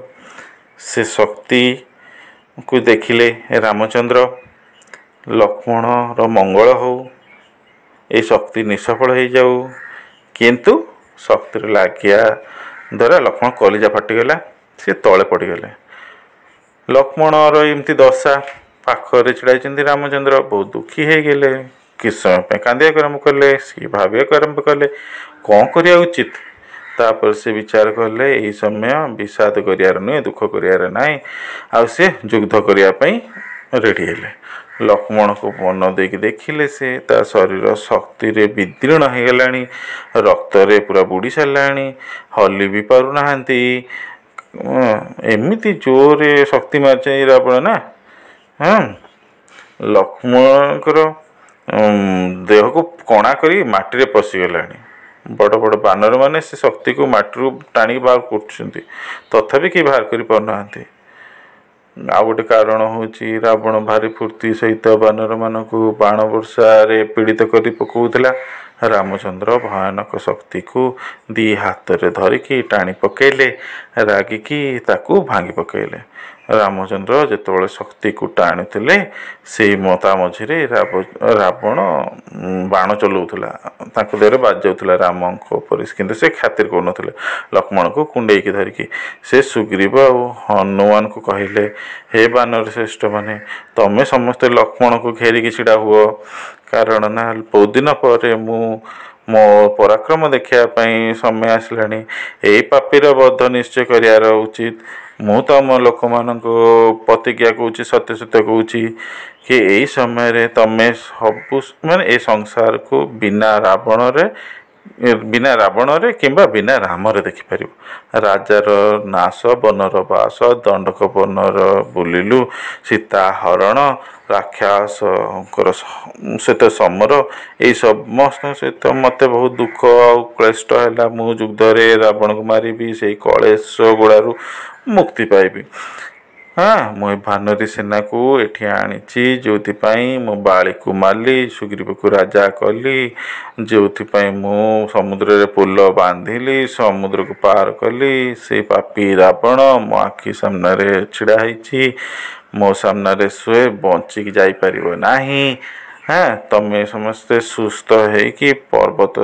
ସେ ଶକ୍ତିକୁ ଦେଖିଲେ ରାମଚନ୍ଦ୍ର, ଲକ୍ଷ୍ମଣର ମଙ୍ଗଳ ହଉ, ଏ ଶକ୍ତି ନିଷ୍ଫଳ ହେଇଯାଉ। କିନ୍ତୁ ଶକ୍ତିରେ ଲାଗିବା ଦ୍ୱାରା ଲକ୍ଷ୍ମଣ କଲିଜା ଫାଟିଗଲା, ସେ ତଳେ ପଡ଼ିଗଲେ। ଲକ୍ଷ୍ମଣର ଏମିତି ଦଶା, ପାଖରେ ଛିଡ଼ା ହେଇଛନ୍ତି ରାମଚନ୍ଦ୍ର, ବହୁତ ଦୁଃଖୀ ହେଇଗଲେ। କିଛି ସମୟ ପାଇଁ କାନ୍ଦିବାକୁ ଆରମ୍ଭ କଲେ। ସିଏ ଭାବିବାକୁ ଆରମ୍ଭ କଲେ କ'ଣ କରିବା ଉଚିତ। ତାପରେ ସେ ବିଚାର କଲେ, ଏହି ସମୟ ବିଷାଦ କରିବାର ନୁହେଁ, ଦୁଃଖ କରିବାର ନାହିଁ। ଆଉ ସେ ଯୁଦ୍ଧ କରିବା ପାଇଁ ରେଡ଼ି ହେଲେ। ଲକ୍ଷ୍ମଣକୁ ମନ ଦେଇକି ଦେଖିଲେ, ସେ ତା ଶରୀର ଶକ୍ତିରେ ବିଦୀର୍ଣ୍ଣ ହେଇଗଲାଣି, ରକ୍ତରେ ପୁରା ବୁଡ଼ି ସାରିଲାଣି, ହଲି ବି ପାରୁନାହାନ୍ତି। ଏମିତି ଜୋରରେ ଶକ୍ତି ମାରିଛି ରାବଣ ନା, ହଁ, ଲକ୍ଷ୍ମଣଙ୍କର ଦେହକୁ କଣା କରି ମାଟିରେ ପଶିଗଲାଣି। ବଡ଼ ବଡ଼ ବାନରମାନେ ସେ ଶକ୍ତିକୁ ମାଟିରୁ ଟାଣିକି ବାହାର କରୁଛନ୍ତି, ତଥାପି କେହି ବାହାର କରିପାରୁନାହାନ୍ତି। ଆଉ ଗୋଟେ କାରଣ ହେଉଛି, ରାବଣ ଭାରି ଫୁର୍ତ୍ତି ସହିତ ବାନରମାନଙ୍କୁ ବାଣ ବର୍ଷାରେ ପୀଡ଼ିତ କରି ପକାଉଥିଲା। ରାମଚନ୍ଦ୍ର ଭୟାନକ ଶକ୍ତିକୁ ଦି ହାତରେ ଧରିକି ଟାଣି ପକାଇଲେ, ରାଗିକି ତାକୁ ଭାଙ୍ଗି ପକାଇଲେ। ରାମଚନ୍ଦ୍ର ଯେତେବେଳେ ଶକ୍ତିକୁ ଟାଣୁଥିଲେ, ସେଇ ତା ମଝିରେ ରାବଣ ବାଣ ଚଲାଉଥିଲା, ତାଙ୍କ ଦେହରେ ବାଜି ଯାଉଥିଲା ରାମଙ୍କ ଉପରେ, କିନ୍ତୁ ସେ ଖାତିର କରୁନଥିଲେ। ଲକ୍ଷ୍ମଣକୁ କୁଣ୍ଡେଇକି ଧରିକି ସେ ସୁଗ୍ରୀବ ଆଉ ହନୁମାନଙ୍କୁ କହିଲେ, ହେ ବାନର ଶ୍ରେଷ୍ଠମାନେ, ତମେ ସମସ୍ତେ ଲକ୍ଷ୍ମଣକୁ ଘେରିକି ଛିଡ଼ା ହୁଅ। କାରଣ ନା ବହୁତ ଦିନ ପରେ ମୁଁ ମୋ ପରାକ୍ରମ ଦେଖିବା ପାଇଁ ସମୟ ଆସିଲାଣି। ଏଇ ପାପୀର ବଧ ନିଶ୍ଚୟ କରିବାର ଉଚିତ। ମୁଁ ତମ ଲୋକମାନଙ୍କୁ ପ୍ରତିଜ୍ଞା କହୁଛି, ସତ୍ୟ ସତ୍ୟ କହୁଛି କି ଏଇ ସମୟରେ ତମେ ସବୁ ମାନେ ଏ ସଂସାରକୁ ବିନା ରାବଣରେ, ବିନା ରାବଣରେ କିମ୍ବା ବିନା ରାମରେ ଦେଖିପାରିବ। ରାଜାର ନାଶ, ବନର ବାସ, ଦଣ୍ଡକ ବନର ବୁଲିଲୁ, ସୀତା ହରଣ, ରାକ୍ଷସଙ୍କର ସହିତ ସମର, ଏଇ ସମସ୍ତଙ୍କ ସହିତ ମୋତେ ବହୁତ ଦୁଃଖ ଆଉ କ୍ଲେଷ୍ଟ ହେଲା। ମୁଁ ଯୁଦ୍ଧରେ ରାବଣକୁ ମାରିବି, ସେଇ କଳେଶ ଗୁଡ଼ାରୁ ମୁକ୍ତି ପାଇବି। ହଁ, ମୁଁ ଏ ବାନରୀ ସେନାକୁ ଏଠି ଆଣିଛି, ଯେଉଁଥିପାଇଁ ମୁଁ ବାଳିକୁ ମାରିଲି, ସୁଗ୍ରୀବକୁ ରାଜା କଲି, ଯେଉଁଥିପାଇଁ ମୁଁ ସମୁଦ୍ରରେ ପୋଲ ବାନ୍ଧିଲି, ସମୁଦ୍ରକୁ ପାର କଲି। ସେଇ ପାପୀ ରାବଣ ମୋ ଆଖି ସାମ୍ନାରେ ଛିଡ଼ା ହେଇଛି, ମୋ ସାମ୍ନାରେ ସେ ବଞ୍ଚିକି ଯାଇପାରିବ ନାହିଁ। ହଁ, ତମେ ସମସ୍ତେ ସୁସ୍ଥ ହେଇକି ପର୍ବତ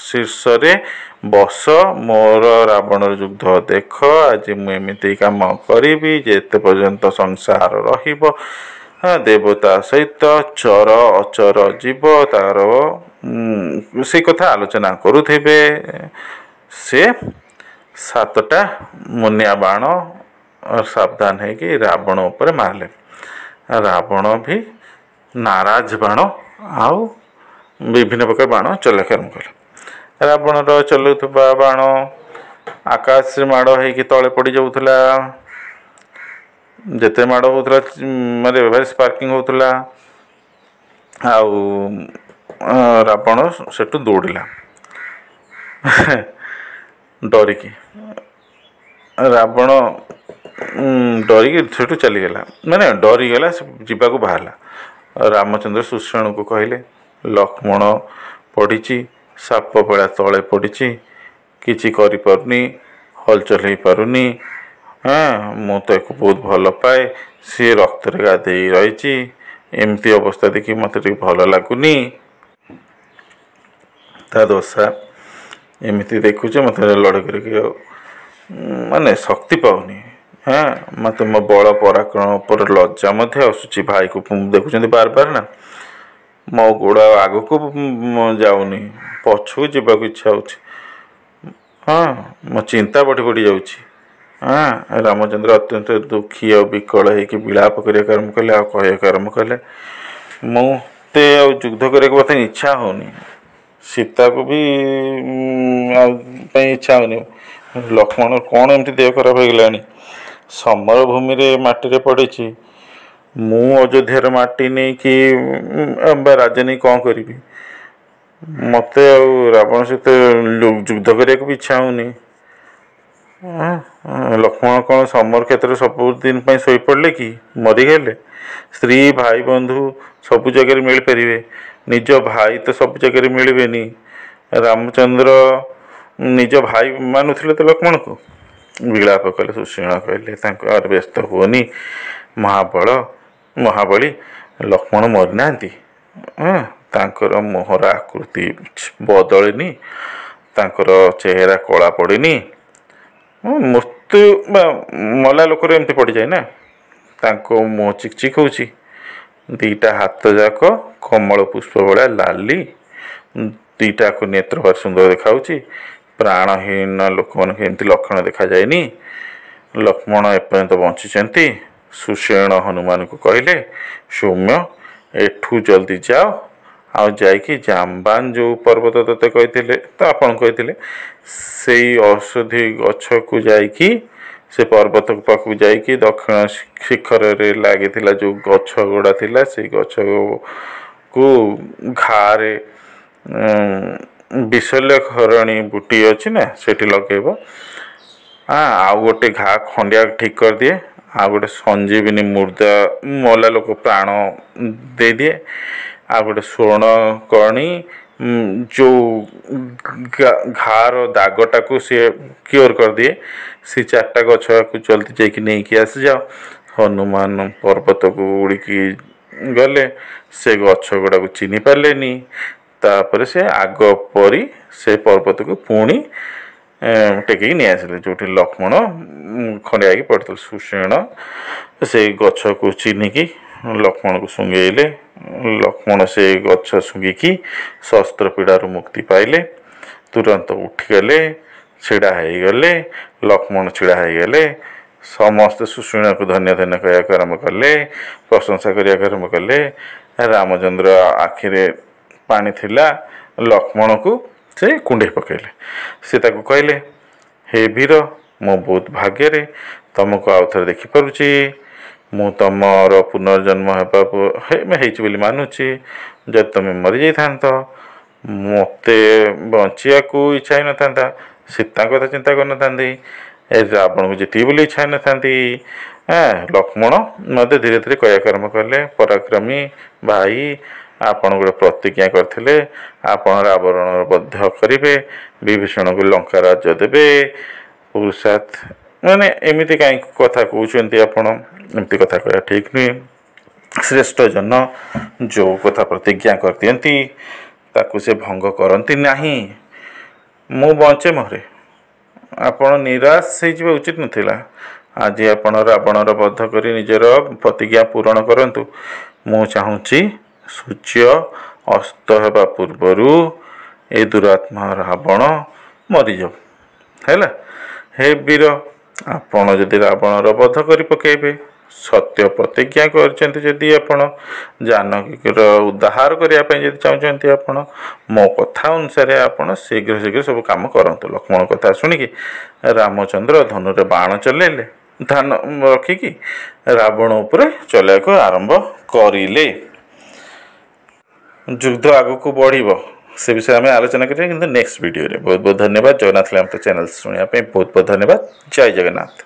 ଶୀର୍ଷରେ ବସ, ମୋର ରାବଣର ଯୁଦ୍ଧ ଦେଖ। ଆଜି ମୁଁ ଏମିତି କାମ କରିବି, ଯେତେ ପର୍ଯ୍ୟନ୍ତ ସଂସାର ରହିବ, ଦେବତା ସହିତ ଚର ଅଚର ଜୀବ ତାର ସେ କଥା ଆଲୋଚନା କରୁଥିବେ। ସେ 7ଟା ମୁନିଆ ବାଣ ସାବଧାନ ହେଇକି ରାବଣ ଉପରେ ମାରିଲେ। ରାବଣ ବି ନାରାଜ ବାଣ ଆଉ ବିଭିନ୍ନ ପ୍ରକାର ବାଣ ଚଲେଇବାକୁ ଆରମ୍ଭ କଲେ। ରାବଣର ଚଲାଉଥିବା ବାଣ ଆକାଶରେ ମାଡ଼ ହେଇକି ତଳେ ପଡ଼ିଯାଉଥିଲା। ଯେତେ ମାଡ଼ ହେଉଥିଲା, ମାନେ ଭାରି ସ୍ପାର୍କିଂ ହେଉଥିଲା, ଆଉ ରାବଣ ସେଠୁ ଦୌଡ଼ିଲା। ଡରିକି। ରାବଣ ଡରିକି ସେଠୁ ଚାଲିଗଲା, ମାନେ ଡରିଗଲା, ସେ ଯିବାକୁ ବାହାରିଲା। ରାମଚନ୍ଦ୍ର ସୁଷେଣକୁ କହିଲେ, ଲକ୍ଷ୍ମଣ ପଡ଼ିଛି, ସାପ ଭଳିଆ ତଳେ ପଡ଼ିଛି, କିଛି କରିପାରୁନି, ହଲଚଲ ହେଇପାରୁନି। ହଁ, ମୁଁ ତାକୁ ବହୁତ ଭଲ ପାଏ, ସିଏ ରକ୍ତରେ ଗାଧେଇ ରହିଛି, ଏମିତି ଅବସ୍ଥା ଦେଖି ମୋତେ ଟିକେ ଭଲ ଲାଗୁନି। ତା ଦଶା ଏମିତି ଦେଖୁଛି, ମୋତେ ଲଢ଼େଇ କରିକି ଆଉ ମାନେ ଶକ୍ତି ପାଉନି। ହଁ, ମୋତେ ମୋ ବଳ ପରାକ୍ରମ ଉପରେ ଲଜ୍ଜା ମଧ୍ୟ ଆସୁଛି। ଭାଇକୁ ଦେଖୁଛନ୍ତି ବାର ବାର ନା, ମୋ ଗୋଡ଼ ଆଉ ଆଗକୁ ଯାଉନି, ପଛକୁ ଯିବାକୁ ଇଚ୍ଛା ହେଉଛି। ହଁ, ମୋ ଚିନ୍ତା ବଢ଼ି ବଢ଼ି ଯାଉଛି। ହଁ, ରାମଚନ୍ଦ୍ର ଅତ୍ୟନ୍ତ ଦୁଃଖୀ ଆଉ ବିକଳ ହେଇକି ବିଳାପ କରିବାକୁ ଆରମ୍ଭ କଲେ ଆଉ କହିବାକୁ ଆରମ୍ଭ କଲେ, ମୋତେ ଆଉ ଯୁଦ୍ଧ କରିବାକୁ ମୋତେ ଇଚ୍ଛା ହେଉନି, ସୀତାକୁ ବି ଆଉ ପାଇଁ ଇଚ୍ଛା ହେଉନି। ଲକ୍ଷ୍ମଣ କ'ଣ ଏମିତି ଦେହ ଖରାପ ହେଇଗଲାଣି? ସମର ଭୂମିରେ ମାଟିରେ ପଡ଼ିଛି, ମୁଁ ଅଯୋଧ୍ୟାର ମାଟି ନେଇକି ବା ରାଜ୍ୟ ନେଇ କ'ଣ କରିବି? ମୋତେ ଆଉ ରାବଣ ସହିତ ଯୁଦ୍ଧ କରିବାକୁ ବି ଇଚ୍ଛା ହେଉନି। ଲକ୍ଷ୍ମଣ କ'ଣ ସମର କ୍ଷେତ୍ରରେ ସବୁଦିନ ପାଇଁ ଶୋଇପଡ଼ିଲେ କି ମରିଗଲେ? ସ୍ତ୍ରୀ, ଭାଇ, ବନ୍ଧୁ ସବୁ ଜାଗାରେ ମିଳିପାରିବେ, ନିଜ ଭାଇ ତ ସବୁ ଜାଗାରେ ମିଳିବେନି। ରାମଚନ୍ଦ୍ର ନିଜ ଭାଇ ମାନୁଥିଲେ ତ ଲକ୍ଷ୍ମଣକୁ। ବିଳାପ କଲେ। ସୁଷେଣ କହିଲେ ତାଙ୍କ, ଆରେ ବ୍ୟସ୍ତ ହୁଅନି ମହାବଳ, ମହାବଳୀ, ଲକ୍ଷ୍ମଣ ମରିନାହାନ୍ତି। ହଁ, ତାଙ୍କର ମୁହଁର ଆକୃତି ବଦଳିନି, ତାଙ୍କର ଚେହେରା କଳା ପଡ଼ିନି। ମୃତ୍ୟୁ ବା ମଲା ଲୋକର ଏମିତି ପଡ଼ିଯାଏ ନା? ତାଙ୍କ ମୁହଁ ଚିକ୍ ଚିକ୍ ହେଉଛି, ଦୁଇଟା ହାତ ଯାକ କମଳ ପୁଷ୍ପ ଭଳିଆ ଲାଲି, ଦୁଇଟାକୁ ନେତ୍ର ଭାରି ସୁନ୍ଦର ଦେଖାହେଉଛି। ପ୍ରାଣହୀନ ଲୋକମାନଙ୍କୁ ଏମିତି ଲକ୍ଷଣ ଦେଖାଯାଏନି। ଲକ୍ଷ୍ମଣ ଏପର୍ଯ୍ୟନ୍ତ ବଞ୍ଚିଛନ୍ତି। ସୁଷେଣ ହନୁମାନଙ୍କୁ କହିଲେ, ସୌମ୍ୟ, ଏଠୁ ଜଲ୍ଦି ଯାଅ ଆଉ ଯାଇକି ଜାମ୍ବାନ ଯେଉଁ ପର୍ବତ ତୋତେ କହିଥିଲେ ତ ଆପଣ କହିଥିଲେ, ସେଇ ଔଷଧି ଗଛକୁ ଯାଇକି, ସେ ପର୍ବତ ପାଖକୁ ଯାଇକି ଦକ୍ଷିଣ ଶିଖରରେ ଲାଗିଥିଲା ଯେଉଁ ଗଛ ଗୁଡ଼ା ଥିଲା, ସେଇ ଗଛକୁ ଘାରେ ବିଶଲ୍ୟକରଣୀ ବୁଟି ଅଛି ନା, ସେଠି ଲଗେଇବ। ଆଉ ଗୋଟେ ଘା ଖଣ୍ଡିଆ ଠିକ୍ କରିଦିଏ, ଆଉ ଗୋଟେ ସଞ୍ଜୀବିନୀ ମୁର୍ଦା ମଲା ଲୋକ ପ୍ରାଣ ଦେଇଦିଏ, ଆଉ ଗୋଟେ ସ୍ୱର୍ଣ୍ଣକର୍ଣ୍ଣୀ ଯେଉଁ ଘାର ଦାଗଟାକୁ ସିଏ କ୍ୟୁର୍ କରିଦିଏ। ସେ ଚାରିଟା ଗଛକୁ ଜଲ୍ଦି ଯାଇକି ନେଇକି ଆସିଯାଅ। ହନୁମାନ ପର୍ବତକୁ ଉଡ଼ିକି ଗଲେ, ସେ ଗଛ ଗୁଡ଼ାକୁ ଚିହ୍ନି ପାରିଲେନି। ତାପରେ ସେ ଆଗ ପରି ସେ ପର୍ବତକୁ ପୁଣି ଟେକିକି ନେଇ ଆସିଲେ, ଯେଉଁଠି ଲକ୍ଷ୍ମଣ ଖଣ୍ଡିଆ ହେଇକି ପଡ଼ିଥିଲେ। ସୁଷେଣ ସେଇ ଗଛକୁ ଚିହ୍ନିକି ଲକ୍ଷ୍ମଣକୁ ଶୁଙ୍ଘେଇଲେ। ଲକ୍ଷ୍ମଣ ସେ ଗଛ ଶୁଙ୍ଘିକି ଶସ୍ତ୍ର ପୀଡ଼ାରୁ ମୁକ୍ତି ପାଇଲେ, ତୁରନ୍ତ ଉଠିଗଲେ, ଛିଡ଼ା ହେଇଗଲେ। ଲକ୍ଷ୍ମଣ ଛିଡ଼ା ହେଇଗଲେ। ସମସ୍ତେ ସୁଷେଣକୁ ଧନ୍ୟ ଧନ୍ୟ କହିବାକୁ ଆରମ୍ଭ କଲେ, ପ୍ରଶଂସା କରିବାକୁ ଆରମ୍ଭ କଲେ। ରାମଚନ୍ଦ୍ର ଆଖିରେ ପାଣି ଥିଲା, ଲକ୍ଷ୍ମଣକୁ ସେ କୁଣ୍ଢେଇ ପକାଇଲେ। ସେ ତାକୁ କହିଲେ, ହେ ବୀର, ମୁଁ ବହୁତ ଭାଗ୍ୟରେ ତମକୁ ଆଉ ଥରେ ଦେଖିପାରୁଛି। ମୁଁ ତମର ପୁନର୍ଜନ୍ମ ହେବାକୁ ହେଇଛି ବୋଲି ମାନୁଛି। ଯଦି ତମେ ମରିଯାଇଥାନ୍ତ, ମୋତେ ବଞ୍ଚିବାକୁ ଇଚ୍ଛା ହେଇନଥାନ୍ତା, ସୀତାଙ୍କ କଥା ଚିନ୍ତା କରିନଥାନ୍ତି, ଏ ରାବଣକୁ ଜିତିବି ବୋଲି ଇଚ୍ଛା ହେଇନଥାନ୍ତି। ଲକ୍ଷ୍ମଣ ମଧ୍ୟ ଧୀରେ ଧୀରେ କହିବାକୁ ଆରମ୍ଭ କଲେ, ପରାକ୍ରମୀ ଭାଇ, ଆପଣ ଗୋଟେ ପ୍ରତିଜ୍ଞା କରିଥିଲେ, ଆପଣ ରାବଣର ବଧ କରିବେ, ବିଭୀଷଣକୁ ଲଙ୍କା ରାଜ୍ୟ ଦେବେ। ପୁରୁଷାର୍ଥ ମାନେ ଏମିତି କାହିଁକି କଥା କହୁଛନ୍ତି ଆପଣ? ଏମିତି କଥା କହିବା ଠିକ୍ ନୁହେଁ। ଶ୍ରେଷ୍ଠ ଜନ ଯେଉଁ କଥା ପ୍ରତିଜ୍ଞା କରିଦିଅନ୍ତି, ତାକୁ ସେ ଭଙ୍ଗ କରନ୍ତି ନାହିଁ। ମୁଁ ବଞ୍ଚେ ମରେ, ଆପଣ ନିରାଶ ହେଇଯିବା ଉଚିତ ନଥିଲା। ଆଜି ଆପଣ ରାବଣର ବଧ କରି ନିଜର ପ୍ରତିଜ୍ଞା ପୂରଣ କରନ୍ତୁ। ମୁଁ ଚାହୁଁଛି ସୂର୍ଯ୍ୟ ଅସ୍ତ ହେବା ପୂର୍ବରୁ ଏ ଦୁରାତ୍ମା ରାବଣ ମରିଯାଉ। ହେଲା, ହେ ବୀର, ଆପଣ ଯଦି ରାବଣର ବଧ କରି ପକାଇବେ, ସତ୍ୟ ପ୍ରତିଜ୍ଞା କରିଛନ୍ତି ଯଦି, ଆପଣ ଜାନକୀର ଉଦ୍ଧାର କରିବା ପାଇଁ ଯଦି ଚାହୁଁଛନ୍ତି, ଆପଣ ମୋ କଥା ଅନୁସାରେ ଆପଣ ଶୀଘ୍ର ଶୀଘ୍ର ସବୁ କାମ କରନ୍ତୁ। ଲକ୍ଷ୍ମଣ କଥା ଶୁଣିକି ରାମଚନ୍ଦ୍ର ଧନୁରେ ବାଣ ଚଲେଇଲେ, ଧାନ ରଖିକି ରାବଣ ଉପରେ ଚଲେଇବାକୁ ଆରମ୍ଭ କରିଲେ। ଯୁଦ୍ଧ ଆଗକୁ ବଢ଼ିବ, ସେ ବିଷୟରେ ଆମେ ଆଲୋଚନା କରିବା କିନ୍ତୁ ନେକ୍ସଟ ଭିଡ଼ିଓରେ। ବହୁତ ବହୁତ ଧନ୍ୟବାଦ। ଜଗନ୍ନାଥ ଲୀଳାମୃତ ଚ୍ୟାନେଲ୍ ଶୁଣିବା ପାଇଁ ବହୁତ ବହୁତ ଧନ୍ୟବାଦ। ଜୟ ଜଗନ୍ନାଥ।